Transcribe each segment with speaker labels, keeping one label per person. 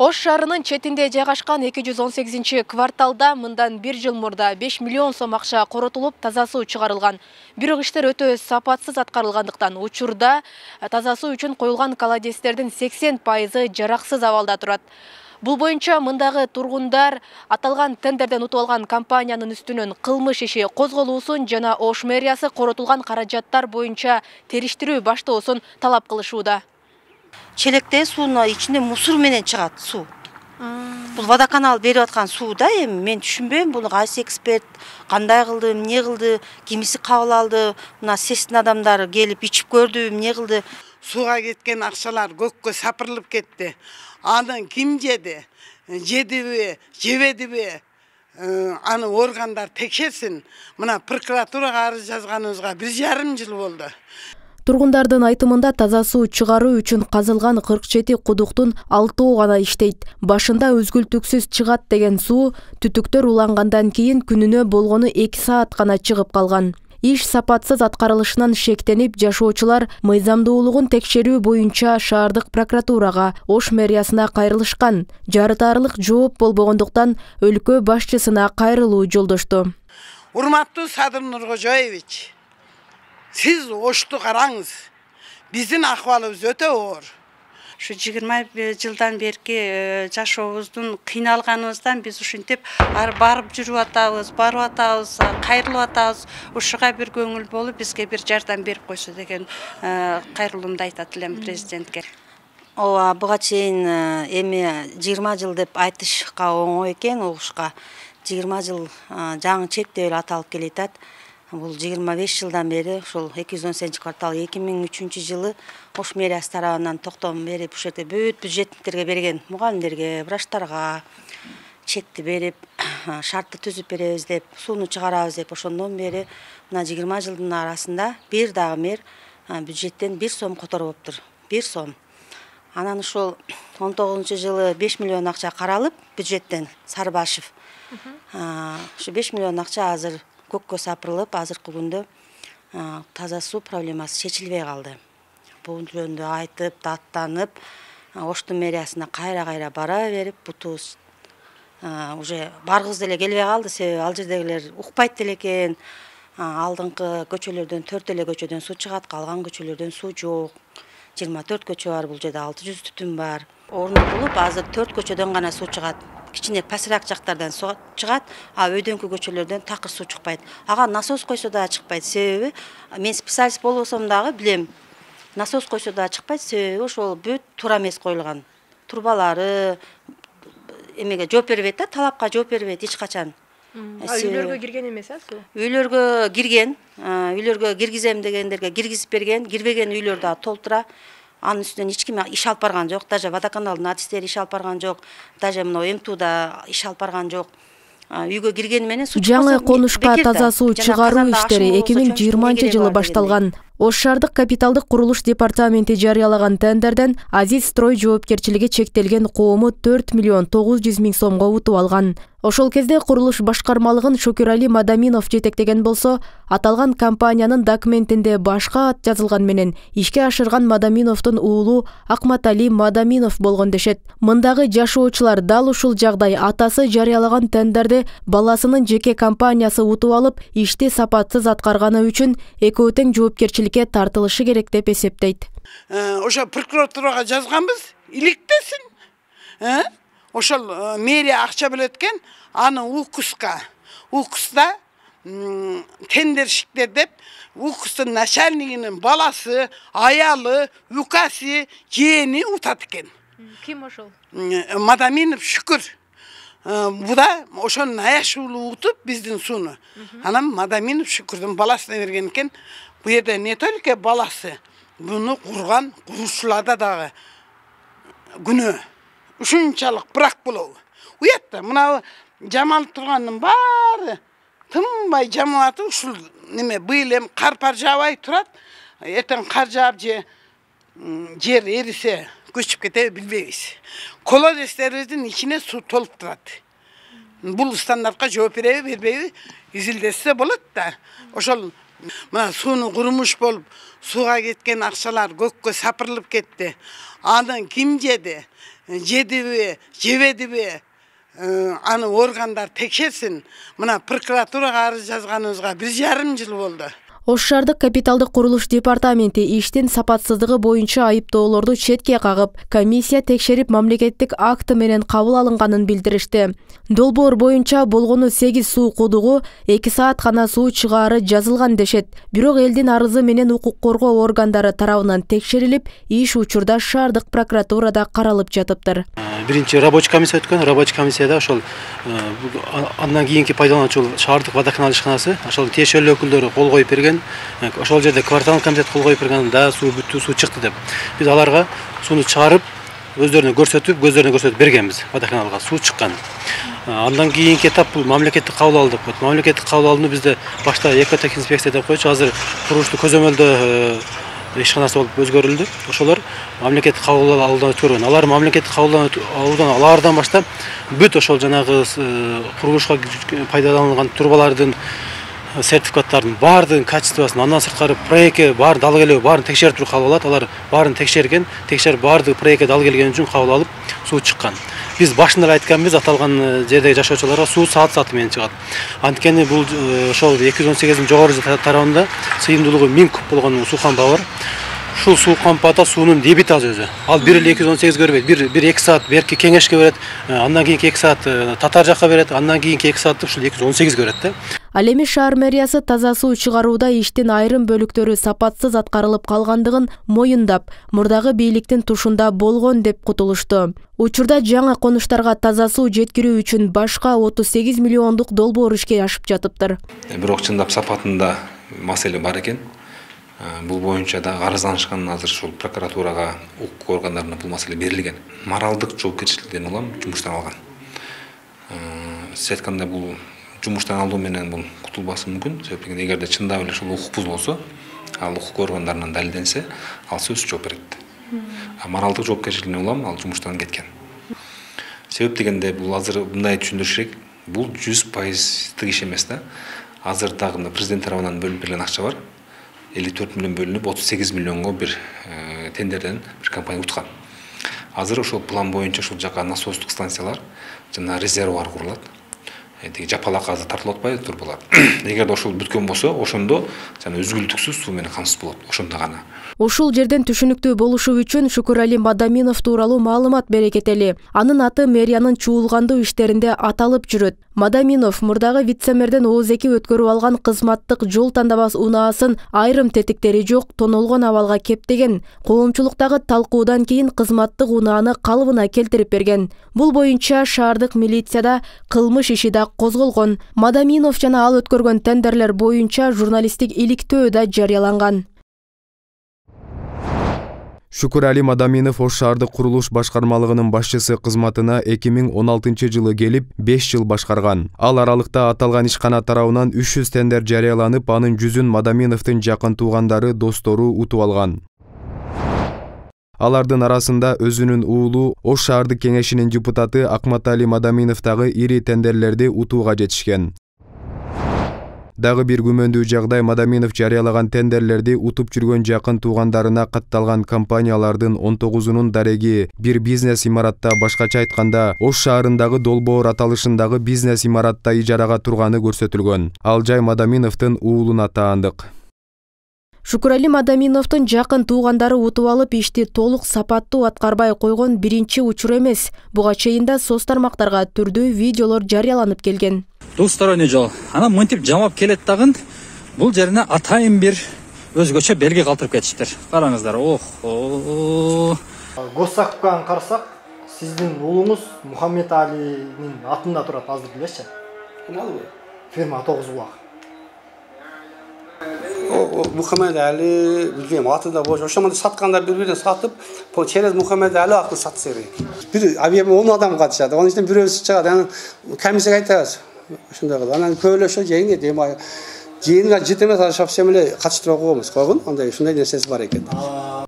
Speaker 1: Ош шаарынын четинде жайгашкан 218-кварталда мындан 1 жыл мурда 5 миллион сом акча коротулуп, таза суу чыгарылган. Бирок иштер өтө сапатсыз аткарылгандыктан учурда таза суу үчүн коюлган колодецтердин 80% жараксыз абалда турат. Бул боюнча мындагы тургундар аталган тендерден утуп алган компаниянын үстүнөн кылмыш иши козголуусун жана Ош мэриясы коротулган каражаттар боюнча териштирүү баштоосун талап кылышууда.
Speaker 2: Челекте суунун ичинде мусор менен чыгат суу. Бул водоканал берип аткан суу да, эми мен түшүнбөйм, буну кайсы эксперт кандай кылды, эмне кылды, кимиси кабыл алды, мына сестин адамдары келип ичип көрдү, эмне кылды.
Speaker 3: Сууга кеткен акчалар көккө сапырылып кетти. Аны ким жеди? Жедиби, жебедиби? Аны органдар текшерсин. Мына прокуратурага арыз жазганыбызга 1,5 жыл болду.
Speaker 1: Тургундардын айтымында таза суу чыгаруу үчүн казылган 47 кудуктун 6 гана иштейт. Башында үзгүлтүксүз чыгат деген суу түтүктөр улангандан кийин күнүнө болгону 2 саат гана чыгып калган. Иш сапатсыз аткарылышынан шектенип, жашоочулар мыйзамдуулугун текшерүү боюнча шаардык прокуратурага, Ош мэриясына кайрылышкан. Жарытарлык жооп болбогондуктан өлкө башчысына кайрылуу жолдошту.
Speaker 3: Урматтуу Садыр Нуркожоевич, сиз Ошту караңыз. Биздин акыбалыбыз өтө оор.
Speaker 2: Ушу 20 жылдан берки жашообуздун кыйналганыбыздан биз ушинтип барып жүрүп атабыз, барып атабыз, кайрылып атабыз. Ушуга бир көңүл болуп, бизге бир жардам берип койсо деген кайрылуумду айтат элем президентке. Ооба, буга чейин эми 20 жыл деп айтышка оңой экен, угушка. 20 жыл жаңы чектөө эле аталып келатат. Бул 25 жылдан бери ушул 218-квартал 2003 жылы Ош мэриясы тарабынан токтом берип, ушул жерде бүт бюджетниктерге берген, мугалимдерге, врачтарга чекти берип, шартты түзүп беребиз деп, сууну чыгарабыз деп, ошондон бери мына 20 жылдын арасында бир дагы мэр бюджеттен 1 сом которбоптур. 1 сом. Анан ушул 19 жылы 5 миллион акча каралып бюджеттен, Сарыбашев. Ушу 5 миллион акча азыр көккө сапырылып, азыркы күндө таза суу проблемасы чечилбей калды. Бул жөнүндө айтып, даттанып, Оштун мэриясына кайра бара берип, бутубуз уже баргыбыз деле келбей калды, себеби ал жердегилер укпайт деле экен. Алдыңкы көчөлөрдөн 4 эле көчөдөн суу чыгат, калган көчөлөрдөн суу жок. 24 көчө бар, бул жерде 600 түтүн бар. Орнотулуп, азыр 4 көчөдөн гана суу чыгат. Кичине пасыраак жактардан суу чыгат, а өйдөнкү көчөлөрдөн такыр суу чыкпайт. Ага насос койсо да чыкпайт, себеби мен специалист болбосом дагы билем. Насос койсо да чыкпайт, себеби ошол бүт туура эмес коюлган. Турбалары эмеге жооп бербейт да, талапка жооп бербейт эч качан.
Speaker 1: Үйлөргө кирген эмес, суу?
Speaker 2: Үйлөргө кирген, үйлөргө киргизем дегендерге киргизип берген, кирбеген үйлөр да толтура. Анын үстүнөн эч ким иш алып барган жок, даже водоканалдын артисттери иш алып барган жок, даже мына МТУда иш алып барган жок. Үйгө киргени менен суу
Speaker 1: жаңы конушка таза суу чыгаруу иштери 2020 жылы башталган. Ош шаардык капиталдык курулуш департаменти жарыялаган тендерден Азиз строй жоопкерчилиги чектелген коому 4 миллион 900 миң сомго утуп алган. Ошол кезде курулуш башкармалыгын Шөкүрали Мадаминов жетектеген болсо, аталган компаниянын документинде башка ат жазылган менен ишке ашырган Мадаминовдун уулу Акматали Мадаминов болгон дешет. Мындагы жашоочулар дал ушул жагдай атасы жарыялаган тендерде баласынын жеке компаниясы утуп алып, ишти сапатсыз аткарганы үчүн экөө тең жоопкерчиликке тартылышы керек деп эсептейт.
Speaker 3: Ошо прокуратурага жазганбыз, иликтесин. Ошол мэрия акча бөлөт экен, аны УКУСта тендерщиктер деп, УКУСтун начальнигинин баласы, аялы, укасы, жээни утат экен.
Speaker 1: Ким ошол?
Speaker 3: Мадаминов Шүкүр. Буда ошонун аяшуулу утуп биздин сууну. Анан Мадаминов Шүкүрдүн баласына берген экен. Бу жерде не только баласы, буну курган курушчуларда дагы күнөө. Ушунчалык брак болобу. Уятта мына жамалып тургандын баары тынбай жамалаты ушул неме быйыл эми кар жаабай турат. Эртең кар жаап же жер эрисе көчүп кетеби билбейбиз. Колодецтерибиздин ичине суу толуп турат. Бул стандартка жооп береби, бербейби изилдесе болот да. Ошол Мына сууну курмуш болуп, сууга кеткен акчалар көккө сапырылып кетти. Аны ким жеди? Жедиби, жебедиби? Аны органдар текшерсин. Мына прокуратурага арыз жазганыбызга 1,5 жыл болду.
Speaker 1: Ош шаардык капиталдык курулуш департаменти иштин сапатсыздыгы боюнча айыптоолорду четке кагып, комиссия текшерип мамлекеттик акты менен кабыл алынганын билдиришти. Долбоор боюнча болгону 8 суу кудугу, 2 саат гана суу чыгаары жазылган дешет. Бирок элдин арызы менен укук коргоо органдары тарабынан текшерилип, иш учурда шаардык прокуратурада каралып жатыптыр.
Speaker 4: Биринчи рабочий комиссия өткөн, рабочий комиссияда ошол андан кийинки пайдалануучу шаардык водоканал ишканасы, ошол тиешелүү өкүлдөрү кол коюп берген. Ошол жерде кварталдык комитет кол коюп берген, да суу бүттү, суу чыкты деп. Биз аларга сууну чыгарып, өздөрүнө көрсөтүп бергенбиз водоканалга, суу чыккан. Андан кийинки этап бул мамлекеттик кабыл алуу деп коет. Мамлекеттик кабыл алууну бизде башта экотех инспекция деп койчу, азыр курулушту көзөмөлдөө ишканасы болуп өзгөрүлдү. Ошолор мамлекеттик кабыл алуудан өткөргөн. Алар мамлекеттик кабыл алуудан алардан баштап бүт ошол жанагы курулушка пайдаланылган турбалардын сертификаттардын баардыгын качествосын, андан сырткары проектке баарын дал келеби баарын текшерип туруп кабыл алат. Алар баарын текшерген, текшерип баардыгы проектке дал келген үчүн кабыл алып суу чыккан. Биз башында эле айтканбыз, аталган жердеги жашоочуларга суу саат менен чыгат. Анткени бул ошол 218-дин жогору тарабында сыйымдуулугу 1000 куб болгон суу кампа бар. Ушул суу кампада суунун дебити аз өзү. Ал 1,218 бербейт. 1-2 саат берки кеңешке берет, андан кийинки 2 саат татар жакка берет, андан кийинки 2 саатты ушул 218 берет да.
Speaker 1: Ал эми шаар мэриясы таза суу чыгарууда иштин айрым бөлүктөрү сапатсыз аткарылып калгандыгын моюндап, мурдагы бийликтин тушунда болгон деп кутулушту. Учурда жаңы конуштарга таза суу жеткирүү үчүн башка 38 миллиондук долбоор ишке ашып жатыптыр.
Speaker 5: Бирок чындап сапатында маселе бар экен. Бул боюнча да арызданышкан, азыр ушул прокуратурага, укук органдарына бул маселе берилген. Моралдык жоопкерчиликтен улам жумуштан алган. Сиз айткандай бул жумуштан алуу менен бул кутулбашы мүмкүн. Себеби эгерде чындап эле ушул укук бузулса, ал укук органдарынан далилденсе, ал сөзсүз жооп берет. Моралдык жоопкерчиликтен улам ал жумуштан кеткен. Себеп дегенде бул азыр мындай түшүндүрүш керек. Бул 100% иш эмес да. Азыр дагы президент тарабынан бөлүнүп берилген акча бар. 54 миллион бөлүнүп 38 миллионго бир тендерден бир компания уткан. Азыр ошол план боюнча ушул жака насостук станциялар жана резервуар курулат. Жапалак азыр тартылып атпайбы турбалар. Эгерде ошол бүткөн болсо, ошондо жана үзгүлтүксүз суу менен камсыз болот. Ошондо гана.
Speaker 1: Ушул жерден түшүнүктүү болушу үчүн Шукурали Мадаминов тууралуу маалымат бере кетели. Анын аты мэриянын чуулгандуу иштеринде аталып жүрөт. Мадаминов мурдагы вице-мэрден ооз-2 өткөрүп алган кызматтык жол тандабас унаасын айрым тетиктери жок тонолгон абалга кептеген. Коомчулуктагы талкуудан кийин кызматтык унааны калыбына келтирип берген. Бул боюнча шаардык милицияда кылмыш иши да козголгон. Мадаминов жана ал өткөргөн тендерлер боюнча журналисттик иликтөө да жарыяланган.
Speaker 6: Шукурали Мадаминов Ош шаардык курулуш башкармалыгынын башчысы кызматына 2016-жылы келип 5 жыл башкарган. Ал аралыкта аталган ишкана тарабынан 300 тендер жарыяланып, анын 100-ün Мадаминовдун жакын туугандары, достору утуп алган. Алардын арасында өзүнүн уулу Ош шаардык кеңешинин депутаты Акматали Мадаминов дагы ири тендерлерди утууга жетишкен. Дагы бир күмөндүү жагдай Мадаминов жарыялаган тендерлерди утуп жүргөн жакын туугандарына катталган компаниялардын 19-унун дареги бир бизнес имаратта, башкача айтканда Ош шаарындагы долбоор аталышындагы бизнес имаратта ижарага турганы көрсөтүлгөн. Ал жай Мадаминовдун уулуна таандык.
Speaker 1: Шукурали Мадаминовдун жакын туугандары утуп алып ишти толук сапаттуу аткарбай койгон биринчи учур эмес. Буга чейин да соц тармактарга түрдүү видеолор жарыяланып келген.
Speaker 7: Двусторонний жол. Анан мынтип жамап келет дагы бул жерине атайын бир өзгөчө белги калтырып кетиштир. Караңыздар.
Speaker 8: Госсакыбан карасак, сиздин уулуңуз Мухаммед Алинин атында турат, азыр билесизби?
Speaker 9: Кималбы?
Speaker 8: Фирма 9 булак.
Speaker 9: Мухаммед Али билбейм, атында болчу. Ошондо сатканда бири-бирине сатып, через Мухаммед Али акыл сатса керек. Бир объем 10 адам катышат. Анын ичинен бирөөсү чыгат. Анан комиссияга айтабыз. Ошондой кылып. Анан көйлөшө жеңге демай жыйынга жыт эмес шапсем эле катыштырып койгонбуз койгон андай ушундай нерсеси бар экен.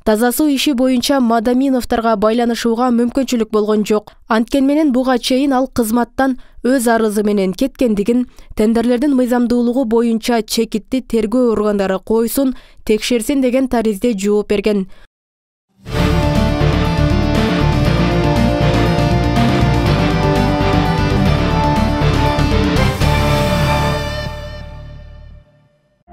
Speaker 1: Таза суу иши боюнча Мадаминовторго байланышууга мүмкүнчүлүк болгон жок. Анткен менен буга чейин ал кызматтан өз арызы менен кеткендигин, тендерлердин мыйзамдуулугу боюнча чекитти тергөө органдары койсун, текшерсин деген таризде жооп берген.